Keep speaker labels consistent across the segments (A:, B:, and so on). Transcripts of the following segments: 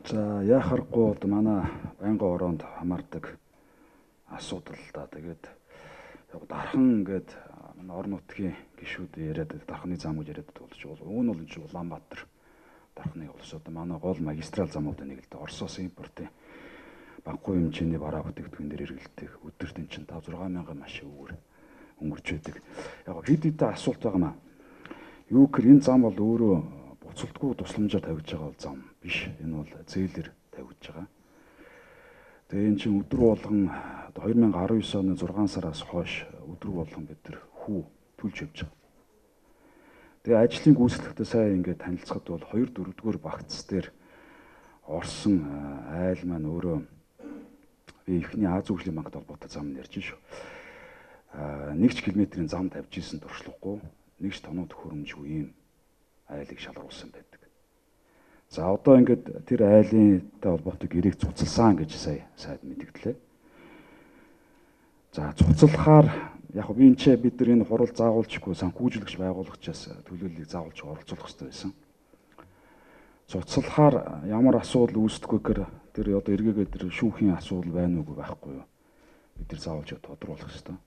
A: За яхахгүй одоо манай байнгын ороонд хамаардаг асуудал да. Тэгээд яг дархан ингээд манай орон нутгийн гишүүд яриад дарханы зам гэж яриад болж бол уг нь бол энэ Улаанбаатар дарханы улс одоо манай гол магистрал замууд нэг л дээ Оросоос импортын баггүй хэмжээний бараа бүтээгдэхүүн дээр эргэлдэх өдөрт эн чинь 5-6 мянган машин өнгөрч байдаг. Яг хэд хэдэн асуулт байгаа маа. Юу гэхээр энэ зам бол өөрөө буцалтгүй тусламжаар тавьж байгаа зам биш. Энэ бол зээлэр тавьж байгаа. Тэгээ эн чинь өдөр болгон 2019 оны 6 сараас хойш өдөр болгон бид нар хүү төлж явж байгаа. Тэгээ ажлын гүйцэтгэлтэй сайн ингээд танилцахад бол 2-4-р багц дээр орсон айл маань өөрөө би ихний Аз хөгжлийн банкт холбоотой зам ярьж шүү. 1 км-ийн зам тавьж исэн туршлагагүй 1 тоног төхөөрөмжгүй ийм айлыг шалгаруулсан байдаг. За одоо ингээд тэр айлынтай холбоотой гэрээг цуцалсан гэж сайд мэдгдлээ. За цуцалахаар яг би бид нар энэ хурал заагуулчихгүй санхүүжүүлэгч байгуулагчаас төлөөллийг заагуулж оролцуулах хэрэгтэй байсан. Цуцалахаар ямар асуудал үүсдэггүй гэхээр тэр одоо эргээгээ тэр шүүхийн асуудал байна уугүй байхгүй юу? Бид нар заавалж тодруулах хэрэгтэй.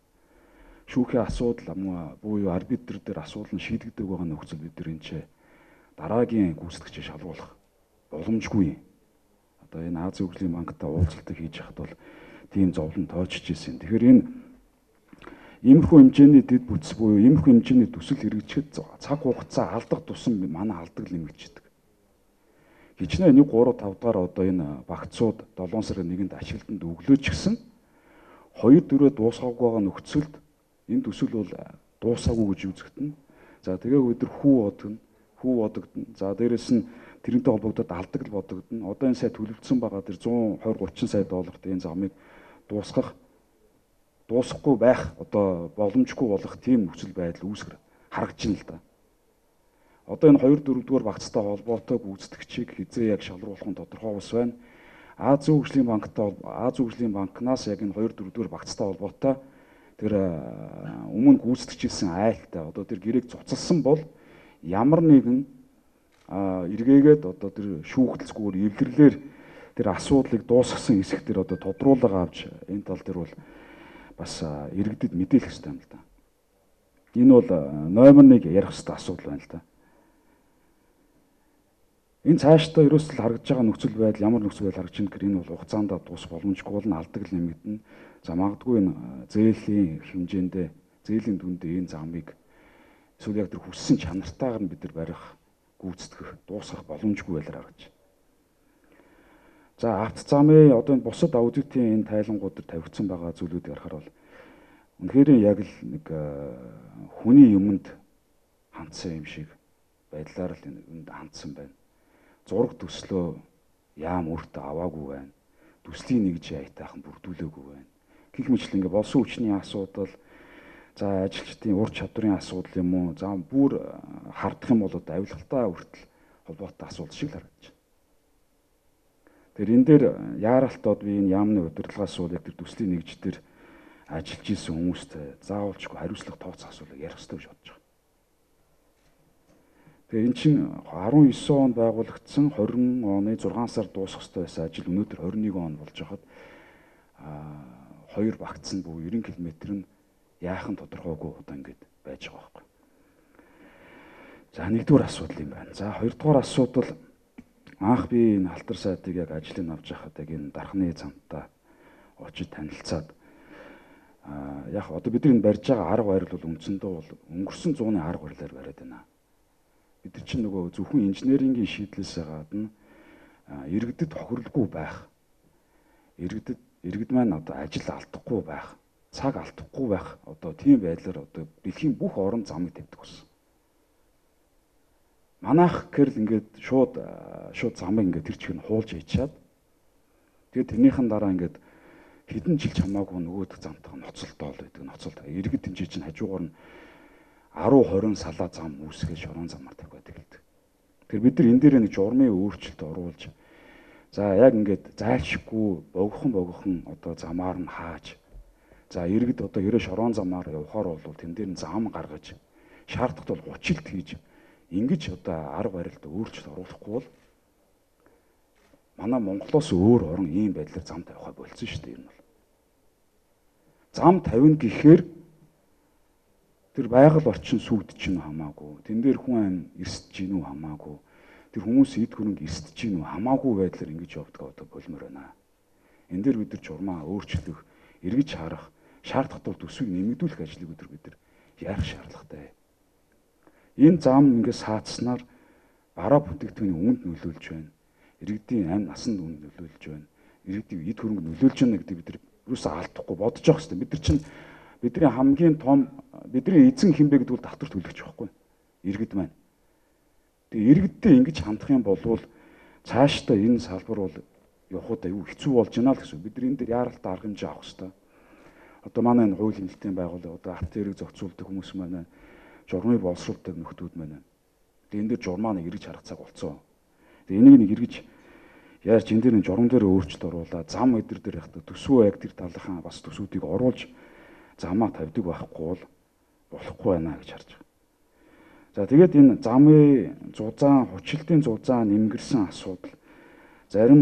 A: Шүүхийн асуудал буюу арбитр дээр асуудал нь шийдэгдэг байгаа нөхцөл бид нар энэ дараагийн гүйцэтгэгчийг шалгуулах боломжгүй. Одоо энэ Аз хөгжлийн банктай уулзалтыг хийж хахад бол тийм зовлон тоочж ирсэн. Тэгэхээр энэ иймэрхүү хэмжээний дэд бүтц буюу иймэрхүү хэмжээний төсөл хэрэгжихэд цаг хугацаа алдах тусам манай алдаг нэмэгдчихдэг. Хичнээн 1-3-5 дахь одоо энэ багцууд 7 сарын 1-нд ашиглалтанд өглөөч гисэн 2-4 дуусгаагүй байгаа нөхцөлд энэ төсөл бол дуусаагүй гэж үзэгдэнэ. За тэгээ бид нар хүү бодогдно. За дээрэс нь тэрнтэй холбогдоод алдаг л бодогдно. Одоо энэ сая төлөвлөсөн байгаа тэр 120-30 сая долларт энэ замыг дуусахгүй байх одоо боломжгүй болох тийм нөхцөл байдал үүсгэр харагдаж байна л да. Одоо энэ 2-4-р багцтай холбоотой гүйцэтгэгчийг хизээ яг шалруулах нь тодорхой ус байна. Аз хөгжлийн банкнаас яг энэ 2-4-р багцтай холбоотой тэр өмнө гүйцэтгэжсэн айлтай одоо тэр гэрээг цуцалсан бол ямар нэгэн эргээгээд одоо тэр шүүхтэлцгүүр эвлэрлэр тэр асуудлыг дуусгасан хэсэг дээр одоо тодруулга авч энэ тал дээр бол бас иргэдэд мэдээлэх хэрэгтэй юм л да. Энэ бол номер 1 ярих хэрэгтэй асуудал байна л да. Энэ цаашдаа ерөөсөл харагдж байгаа нөхцөл байдал ямар нөхцөл байдал харагдж байна гэхээр энэ бол хугацаанд дуусах боломжгүй болно, алдаг л нэмэгдэнэ. За магадгүй энэ зээлийн хэмжээндээ зээлийн дүндээ энэ замыг эсвэл яг тэр хүссэн чанартаагаар нь бид нар барих, гүйцэтгэх, дуусгах боломжгүй байлаар харагдаж. За авто замын одоо энэ бусад аудитын энэ тайлангууд дээр тавигдсан байгаа зүйлүүдийг харахаар бол үнэхээр яг л нэг хүний юмд хандсан юм шиг байдлаар л энд хандсан байна. Зураг төслөө яам өөртөө аваагүй байна. Төслийн нэгж аятайхан бүрдүүлээгүй байна. Гэх мэтлэн ингээ болсон хүчний асуудал, за ажилчдын ур чадварын асуудал юм уу, за бүр хардах юм бол одоо авилгалтай хүртэл холбоотой асуудал шиг л харагдаж байна. Тэгэхээр энэ дээр яаралтууд би энэ яамны удирдлагаас бол яг тэр төслийн нэгж дээр ажиллаж исэн хүмүүстэй заавалчгүй хариуцлага тооцох асуудлыг ярих хэрэгтэй гэж бодож байгаа. Тэгээ эн чинь 19 онд байгуулагдсан 20 оны 6 сар дуусах ёстой байсан ажил өнөөдөр 21 он болж байхад 2 багц нь буюу 90 км нь яахан тодорхойгүй одоо ингэж байж байгаа байхгүй. За нэгдүгээр асуудал юм байна. За хоёрдугаар асуудал анх би энэ халтар сайтыг яг ажлыг авч байхад яг энэ дарханы замтай очиж танилцаад яг одоо бидний барьж байгаа арга барил бол үндсэндээ бол өнгөрсөн зууны арга барилаар бариад байна. Бид нар чинь нөгөө зөвхөн инженерингийн шийдлээсээ гадна иргэдэд тохирлгүй байх. Иргэд маань одоо ажил алдахгүй байх, цаг алдахгүй байх одоо тийм байдлаар одоо дэлхийн бүх орон замыг тавьдаг болсон. Манайх гэрэл ингээд шууд замыг ингээд тэр чигээр нь хуулж ичаад тэгээд тэрнийхэн дараа ингээд хэдэн жил чамаагүй нөгөөдөх замтайгаа ноцолдоол байдаг. Ноцолд иргэд тэнцээ чинь хажуугаар нь 10-20 салаа зам үүсгэж шорон замаар тавьдаг гэдэг. Тэр бид нар энэ дээр нэг журмын өөрчлөлт оруулж за яг ингээд зайлшгүй богихон одоо замаар нь хааж за иргэд одоо ерөө шорон замаар явахаар бол тэн дээр нь зам гаргаж шаардлагат бол 30-lt хийж ингэж одоо арга барилд өөрчлөлт оруулахгүй бол манай Монголоос өөр орон ийм байдлаар зам тавихаа болцсон шүү дээ. Энэ бол зам тавина гэхээр тэр байгаль орчин сүгдэж чинь хамаагүй. Тэн дээр хүн ам эрсдэж гин үү хамаагүй. Тэр хүмүүс эд хөрөнгө эрсдэж гин үү хамаагүй байдлаар ингэж явдаг одоо болмоор байна. Энд дээр бид нар журмаа өөрчлөх, эргэж харах, шаардах тул төсвийг нэмэгдүүлэх ажлыг бид нар яах шаардлагатай. Энэ зам ингэ саацснаар бараа бүтээгдэхүүний үнэнд нөлөөлж байна. Иргэдийн амь насанд үнэнд нөлөөлж байна. Иргэдийн эд хөрөнгө нөлөөлж байна гэдэг бид нар юусаа алдахгүй бодож явах хэрэгтэй. Бид нар чинь бидний хамгийн том бидний эзэн хинбэ гэдэг бол татвар төлөгч байхгүй. Иргэд маань. Тэгээ иргэдтэй ингэж хандах юм бол цаашдаа энэ салбар бол явахд аюу хэцүү болж байна л гэсэн. Бид нар энэ дээр яаралтай арга хэмжээ авах хэрэгтэй. Одоо манай энэ хуулийн хэлтийн байгууллага одоо арт тэрэг зохицуулдаг хүмүүс маань журмыг боловсруулдаг нөхдүүд маань. Тэгээ энэ дээр журмаа нэг эргэж харах цаг болцсон. Тэгээ энийг нэг эргэж яаж энэ дээр журам дээр өөрчлөлт оруулаад зам өдр дээр явахдаа төсвөө яг тэр талынхаа бас төсвүүдийг оруулж замаа тавьдаг байхгүй бол болохгүй байна гэж харж байгаа. За тэгээд энэ замын зузаан, хүчлэлтийн зузаан нэмгэрсэн асуудал зарим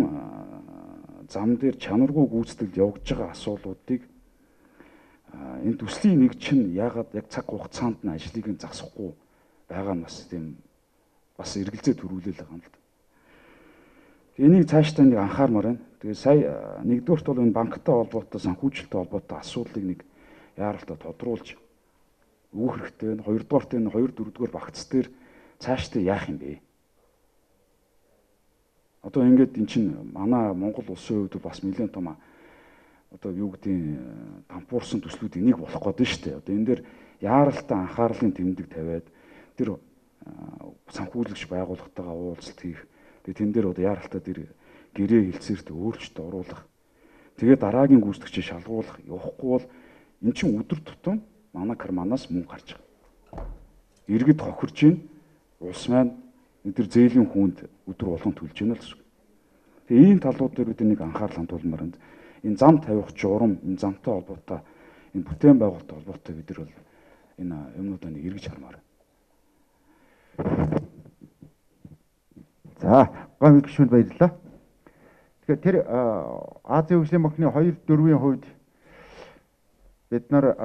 A: зам дээр чанаргүй гүйцэтгэл явагдаж байгаа асуудлуудыг энэ төслийн нэг чинь ягаад яг цаг хугацаанд нь ажлыг нь засахгүй байгаа нь бас тийм бас эргэлзээ төрүүлэл байгаа юм л да. Энийг цаашдаа нэг анхаармаар байна. Тэгээ сая нэгдүгürt бол энэ банктай холбоотой, санхүүжилттэй холбоотой асуудлыг нэг яаралтай тодруулж өгөх хэрэгтэй байна. Хоёрдугаарт энэ 2, 4-р багц дээр цаашдаа яах юм бэ? Одоо ингээд эн чинь манай Монгол улсын хувьд бас нэлээд том одоо юу гэдгийг дампуурсан төслүүдийн нэг болох гээд байна шүү дээ. Одоо энэ дээр яаралтай анхаарлын тэмдэг тавиад тэр санхүүлагч байгууллагатайгаа уулзалт хийх. Тэгээ тэн дээр одоо яаралтай тэр гэрээ хэлцээрт өөрчлөлт оруулах. Тэгээ дараагийн гүйцэтгэгчийг шалгуулах явахгүй бол эн чинь өдөр тутам манай карманаас мөнгө гарч байгаа. Иргэд хохирж гин улс маань тэр зээлийн хүнд өдөр болгон төлж гинэ л гэсэн. Тэгээ ийм талууд дээр бид нэг анхаарал хандуулмаар байна. Энэ зам тавих журам, энэ замтай холбоотой, энэ бүтээн байгуулалттай холбоотой бид нар бол энэ юмнуудаа нэг эргэж хармаар.
B: За, гомд гишүүнд баярлалаа. Тэгэхээр тэр Азийн хөгжлийн банкны 2/4-ийн хувьд бид нар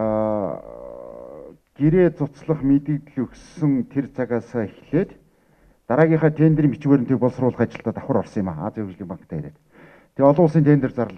B: гэрээ цуцлах мэдээлэл өгсөн тэр цагаас эхлээд дараагийнхаа тендерийн бичвэрийн төв боловсруулах ажилдаа давхар орсон юм аа. Азийн хөгжлийн банктай ирээд. Тэгээ олон улсын тендер зарлах